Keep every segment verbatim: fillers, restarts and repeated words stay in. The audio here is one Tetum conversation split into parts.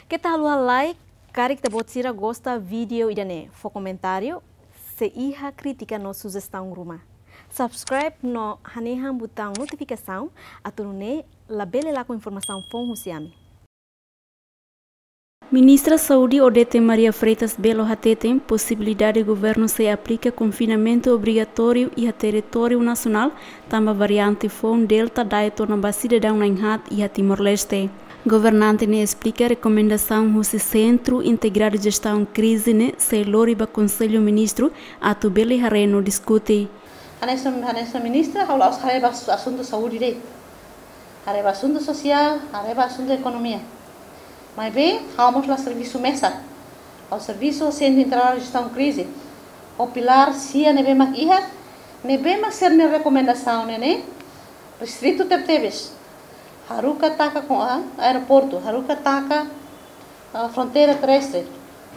Keta haluha like, karik ita-boot sira gosta vídeo ida-ne'e, fó komentáriu, se iha krítika no sujestaun ruma. Subscribe no hanehan butaun notifikasaun, atu nune'e labele lakon informasaun foun husi ami. Ministra Saúde Odete Maria Freitas Belo hateten posibilidade governu sei aplika konfinamentu obrigatóriu iha territóriu nasionál, tanba variante foun Delta da'et ona ba sidadaun na'in-haat iha Timor-Leste. Governante ne'e esplika rekomendasaun husi Sentru Integradu Jestaun Krize ne'e sei lori ba Konsellu Ministru atu bele haree no diskute. Hanesan, hanesan ministra, ha'u la'ós haree ba asuntu saúde de'it. Haree ba asuntu sosiál, haree ba asuntu ekonomia. Maibé, ha'u mós la servisu mesak. Ha'u servisu Sentru Integradu Jestaun Krize. Ho pilár sia ne'ebé mak iha, ne'ebé mak sira-nia rekomendasaun ne'e, ne'e restritu tebetebes. Haruka taka ho, ah, aeroportu, haruka taka, ah, fronteira terrestre.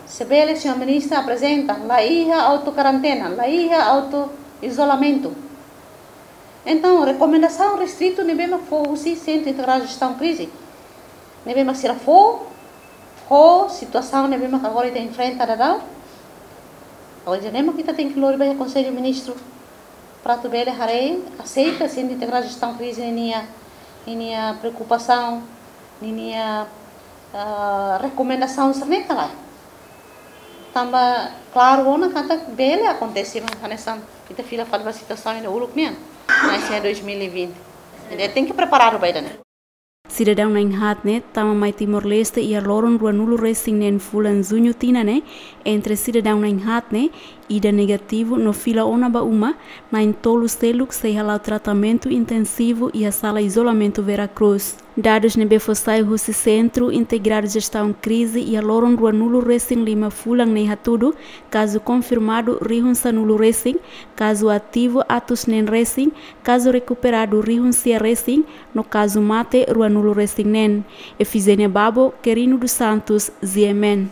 Se bele, señór ministra aprezenta, la iha auto-karentena, la iha auto-izolamentu. Entaun, rekomendasaun restritu ne'ebé mak fó husi Sentru Integradu Jestaun Krize, ne'ebé mak sira fó, ho situasaun ne'ebé mak agora ita enfrenta daudaun. Agora, ne'e mak ita tenke lori ba iha Konsellu Ministru, para atu bele haree, aseita Sentru Integradu Jestaun Krize ninia, ninia preokupasaun, ninia, ah, rekomendasaun sira-ne'e ka lae. Tanba klaru ona katak bele akontese mak hanesan ita fila fali ba situasaun ida uluk nian, mas iha dois mil e vinte. Jadi, tenke preparadu ba ida-ne'e. Sidadaun na'in-haat ne'e tama mai Timor-Leste iha loron ruanulu-resin-neen fulan Juñu tinan ne'e, entre sidadaun na'in-haat ne'e, ida negativu no fila ona ba uma, na'in-tolu seluk sei hala'o tratamentu intensivu iha sala izolamentu Vera Cruz. Dadus ne'ebé fó sai husi Sentru Integradu Jestaun Krize iha loron ruanulu-resin-lima fulan ne'e hatudu, kazu konfirmadu rihun sanulu-resin, kazu ativu atus neen-resin, kazu rekuperadu rihun sia-resin, no kazu mate ruanulu-resin-neen. Efigénia Babo, Querino dos Santos, G M N.